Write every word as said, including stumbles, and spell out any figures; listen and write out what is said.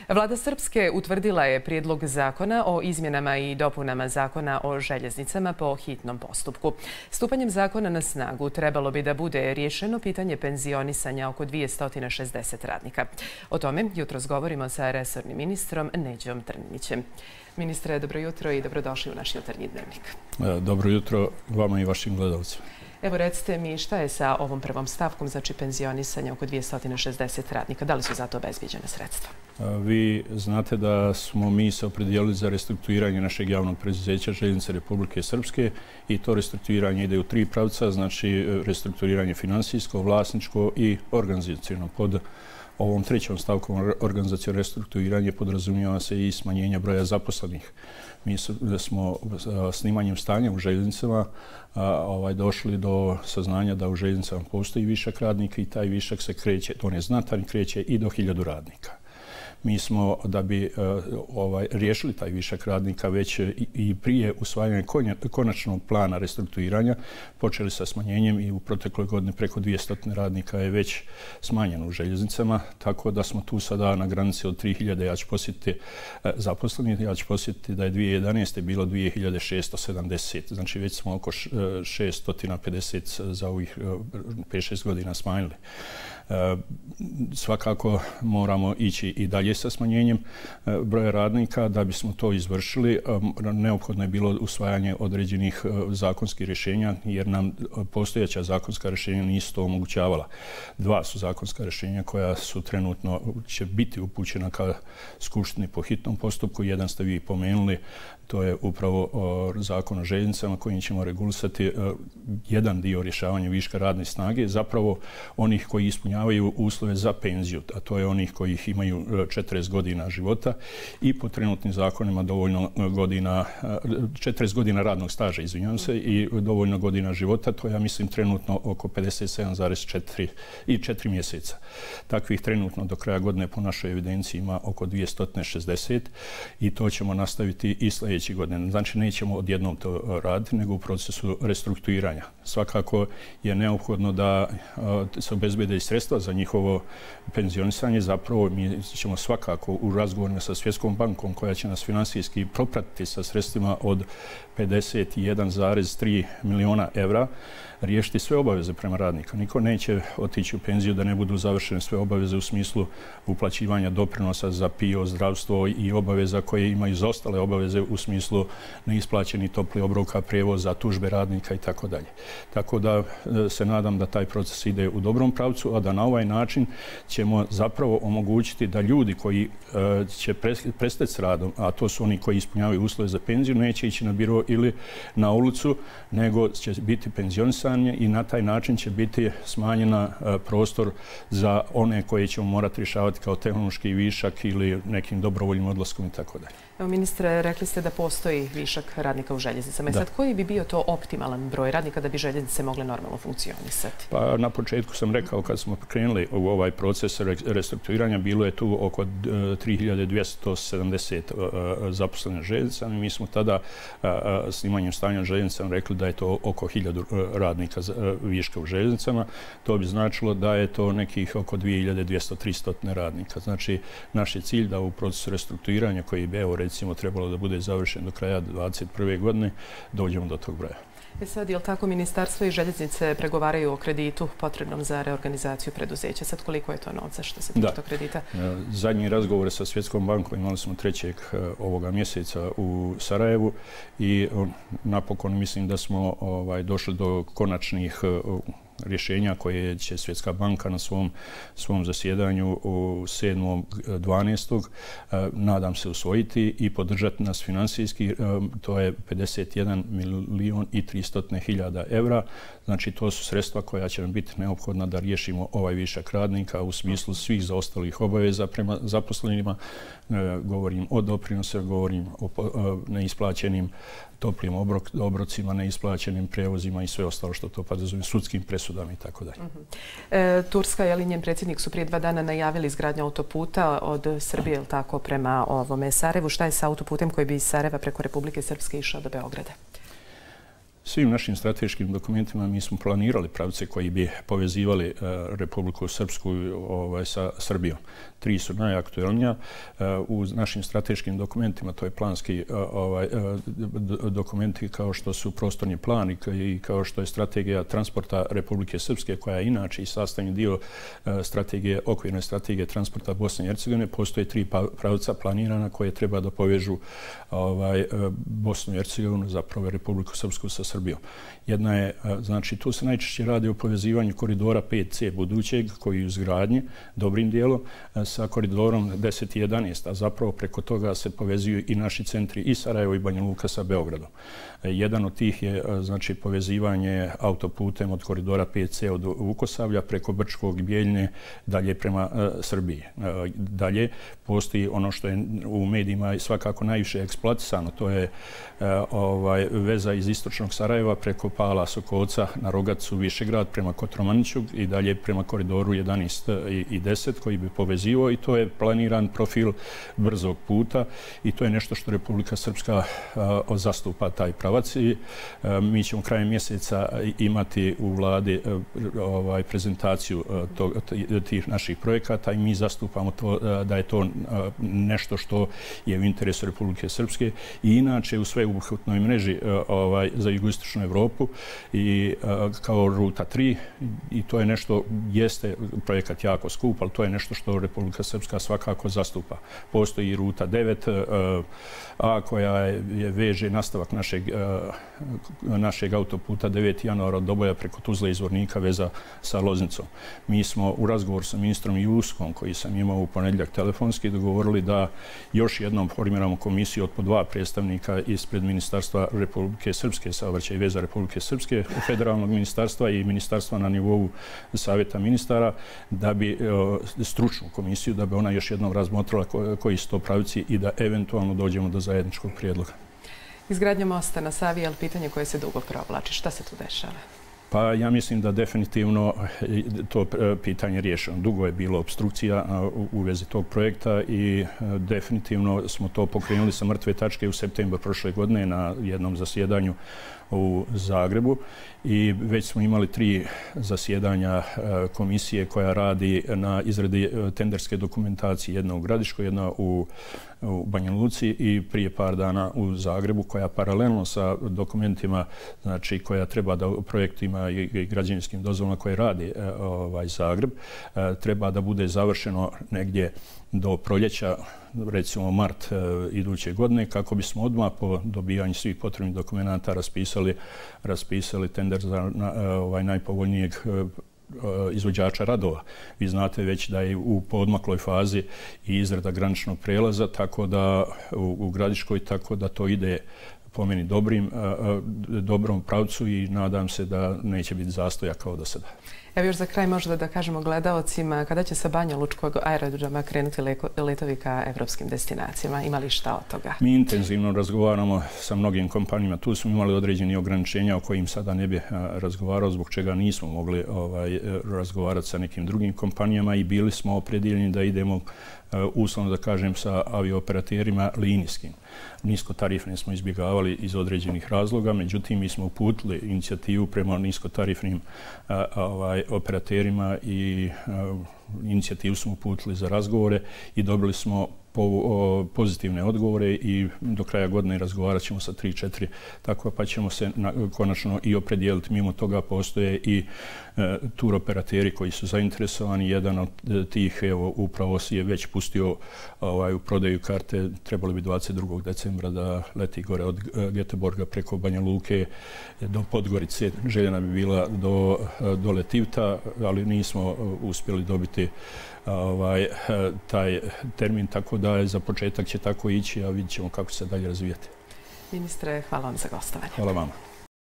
Vlada Srpske utvrdila je prijedlog zakona o izmjenama i dopunama zakona o željeznicama po hitnom postupku. Stupanjem zakona na snagu trebalo bi da bude riješeno pitanje penzionisanja oko dvjesto šezdeset radnika. O tome jutros govorimo sa resornim ministrom Neđom Trninićem. Ministre, dobro jutro i dobrodošli u naš jutarnji dnevnik. Dobro jutro vama i vašim gledalcima. Evo, recite mi šta je sa ovom prvom stavkom, znači penzionisanja oko dvjesto šezdeset radnika. Da li su za to obezbijeđena sredstva? Vi znate da smo mi se opredijelili za restrukturiranje našeg javnog preduzeća Željeznice Republike Srpske i to restrukturiranje ide u tri pravca, znači restrukturiranje finansijsko, vlasničko i organizaciono. Pod ovom trećom stavkom organizacijno restrukturiranje podrazumijeva se i smanjenje broja zaposlenih. Mi smo snimanjem stanja u željeznicama ovaj, došli do saznanja da u željeznicama postoji višak radnika i taj višak se kreće, to ne znatan, kreće i do hiljadu radnika. Mi smo, da bi ovaj, riješili taj višak radnika već i, i prije usvajanja konačnog plana restrukturiranja, počeli sa smanjenjem i u protekloj godini preko dvjesto radnika je već smanjeno u željeznicama, tako da smo tu sada na granici od tri hiljade. Ja ću posjetiti zaposlenih, ja ću posjetiti da je dvije hiljade jedanaeste bilo dvije hiljade šesto sedamdeset, znači već smo oko šesto pedeset za ovih pet šest godina smanjili. E, svakako moramo ići i dalje sa smanjenjem e, broja radnika. Da bismo to izvršili, e, neophodno je bilo usvajanje određenih e, zakonskih rješenja, jer nam postojeća zakonska rješenja nisu to omogućavala. Dva su zakonska rješenja koja su trenutno će biti upućena ka Skupštini po hitnom postupku. Jedan ste vi pomenuli, to je upravo o, zakon o željeznicama kojim ćemo regulisati o, jedan dio rješavanja viška radne snage, zapravo onih koji ispunjavaju uslove za penziju, a to je onih koji imaju četrdeset godina života i po trenutnim zakonima dovoljno godina, četrdeset godina radnog staža, izvinjavam se, i dovoljno godina života, to ja mislim trenutno oko pedeset sedam zarez četiri i četiri mjeseca. Takvih trenutno do kraja godine po našoj evidenciji ima oko dvjesto šezdeset i to ćemo nastaviti i sljedeće godine. Znači nećemo odjednom to raditi, nego u procesu restrukturiranja. Svakako je neophodno da se obezbede i sredstva za njihovo penzionisanje. Zapravo mi ćemo svakako u razgovorima sa Svjetskom bankom, koja će nas finansijski propratiti sa sredstvima od pedeset jedan zarez tri milijuna evra, riješiti sve obaveze prema radnika. Niko neće otići u penziju da ne budu završene sve obaveze u smislu uplaćivanja doprinosa za P I O, zdravstvo i obaveza koje imaju za ostale obaveze u smislu neisplaćeni topli obroka, prijevoza, tužbe radnika i tako dalje. Tako da se nadam da taj proces ide u dobrom pravcu, a da na ovaj način ćemo zapravo omogućiti da ljudi koji uh, će prestati s radom, a to su oni koji ispunjavaju uslove za penziju, neće ići na biro ili na ulicu, nego će biti penzionisani i na taj način će biti smanjena uh, prostor za one koje ćemo morati rješavati kao tehnološki višak ili nekim dobrovoljnim odlaskom i tako dalje. Evo, ministre, rekli ste da postoji višak radnika u željeznicama. I sad, koji bi bio to optimalan broj radnika da bi željeznice mogle normalno funkcionisati? Pa na početku sam rekao, kad smo krenuli u ovaj proces restrukturiranja, bilo je tu oko tri hiljade dvjesto sedamdeset zaposlenih željeznica. Mi smo tada snimanjem stanja željeznicama rekli da je to oko hiljadu radnika viška u željeznicama. To bi značilo da je to nekih oko dvije hiljade dvjesto do tristo radnika. Znači, naš je cilj da u procesu restrukturiranja, koji bi evo recimo trebalo da bude završen do kraja dvadeset prve godine, dođemo do tog broja. E sad, je li tako ministarstvo i željeznice pregovaraju o kreditu potrebnom za reorganizaciju preduzeća? Sad, koliko je to novca što se tiče tog kredita? Zadnji razgovor sa Svjetskom bankom imali smo trećeg ovoga mjeseca u Sarajevu i napokon mislim da smo ovaj, došli do konačnih rješenja koje će Svjetska banka na svom, svom zasjedanju u sedmog dvanaestog nadam se usvojiti i podržati nas finansijski. To je pedeset jedan milijun i tristo hiljada evra. Znači, to su sredstva koja će nam biti neophodna da riješimo ovaj višak radnika u smislu svih zaostalih obaveza prema zaposlenima. Govorim o doprinosu, govorim o neisplaćenim toplim obrok, obrocima, neisplaćenim prevozima i sve ostalo što to podrazumijeva, sudskim presudama i tako dalje. E, Turska i njen predsjednik su prije dva dana najavili izgradnju autoputa od Srbije, ili tako, prema ovome Sarajevu. Šta je sa autoputem koji bi iz Sarajeva preko Republike Srpske išao do Beograda? Svim našim strateškim dokumentima mi smo planirali pravce koji bi povezivali uh, Republiku Srpsku ovaj, sa Srbijom. Tri su najaktuelnija. Uh, u našim strateškim dokumentima, to je planski uh, ovaj, uh, dokumenti kao što su prostorni plan i kao što je strategija transporta Republike Srpske, koja je inače i sastavni dio uh, strategije, okvirne strategije transporta Bosne i Hercegovine. Postoje tri pravca planirana koje treba da povežu ovaj, uh, Bosnu i Hercegovinu, zapravo Republiku Srpsku sa Srbijom. Jedna je, znači, tu se najčešće radi o povezivanju koridora pet C budućeg, koji je u izgradnji, dobrim dijelom, sa koridorom deset i jedanaest, a zapravo preko toga se povezuju i naši centri i Sarajevo i Banja Luka sa Beogradom. Jedan od tih je, znači, povezivanje autoputem od koridora pet C od Vukosavlja preko Brčkog i Bijeljine dalje prema uh, Srbiji. Uh, dalje postoji ono što je u medijima svakako najviše eksploatisano, to je uh, ovaj, veza iz istočnog Sarajeva preko Pala Sokoca na Rogacu, Višegrad prema Kotromaniću i dalje prema koridoru jedanaest i deset koji bi povezivao, i to je planiran profil brzog puta i to je nešto što Republika Srpska uh, zastupa taj pravac i uh, mi ćemo krajem mjeseca imati u vladi uh, ovaj, prezentaciju uh, to, tih naših projekata i mi zastupamo to, uh, da je to uh, nešto što je u interesu Republike Srpske i inače u sveobuhvatnoj mreži uh, ovaj, za jugoistočnu Evropu i uh, kao ruta tri, i to je nešto, jeste projekat jako skup, ali to je nešto što Republika Srpska svakako zastupa. Postoji i ruta devet uh, A koja je, je veže nastavak našeg, uh, našeg autoputa deveti januara od Doboja preko Tuzle i Zvornika veza sa Loznicom. Mi smo u razgovoru sa ministrom Juskom, koji sam imao u ponedjeljak telefonski, dogovorili da još jednom formiramo komisiju od po dva predstavnika ispred Ministarstva Republike Srpske, saobraćaja i veza Republike Srpske, federalnog ministarstva i ministarstva na nivou savjeta ministara, da bi uh, stručnu komisiju, da bi ona još jednom razmotrila ko, koji su to pravci i da eventualno dođemo do zajedničkog prijedloga. Izgradnja mosta na Savi je pitanje koje se dugo provlači. Šta se tu dešava? Pa ja mislim da definitivno to pitanje riješeno. Dugo je bilo obstrukcija u vezi tog projekta i definitivno smo to pokrenuli sa mrtve tačke u septembru prošle godine na jednom zasjedanju u Zagrebu i već smo imali tri zasjedanja komisije koja radi na izradi tenderske dokumentacije, jedna u Gradiškoj, jedna u, u Banja Luci i prije par dana u Zagrebu, koja paralelno sa dokumentima, znači koja treba da projektima i, i građevinskim dozvolama koje radi ovaj Zagreb, treba da bude završeno negdje do proljeća, recimo mart e, iduće godine, kako bismo odmah po dobijanju svih potrebnih dokumenta raspisali, raspisali tender za na, e, ovaj najpovoljnijeg e, izvođača radova. Vi znate već da je u poodmakloj fazi i izrada graničnog prelaza, tako da u, u Gradiškoj, tako da to ide po meni dobrim, dobrom pravcu i nadam se da neće biti zastoja kao do sada. Evo još za kraj možda da kažemo gledaocima, kada će sa Banja Lučkog aerodroma krenuti letovi ka evropskim destinacijama? Ima li šta od toga? Mi intenzivno razgovaramo sa mnogim kompanijama. Tu smo imali određeni ograničenja o kojim sada ne bi razgovarao, zbog čega nismo mogli ovaj, razgovarati sa nekim drugim kompanijama i bili smo opredjeljeni da idemo uslovno da kažem sa aviooperaterima linijskim. Niskotarifne smo izbjegavali iz određenih razloga, međutim mi smo uputili inicijativu prema niskotarifnim a, ovaj, operaterima i a, inicijativu smo uputili za razgovore i dobili smo po, o, pozitivne odgovore i do kraja godine razgovarat ćemo sa tri četiri, tako pa ćemo se na, konačno i opredijeliti. Mimo toga postoje i e, tur operateri koji su zainteresovani. Jedan od tih, evo, upravo si je već pustio ovaj, u prodaju karte, trebali bi dvadeset drugog decembra da leti gore od Göteborga preko Banja Luke do Podgorice. Željena bi bila do, do Letivta, ali nismo uspjeli dobiti ovaj, taj termin, tako da za početak će tako ići, a vidjet ćemo kako se dalje razvijati. Ministre, hvala vam za gostovanje. Hvala vama.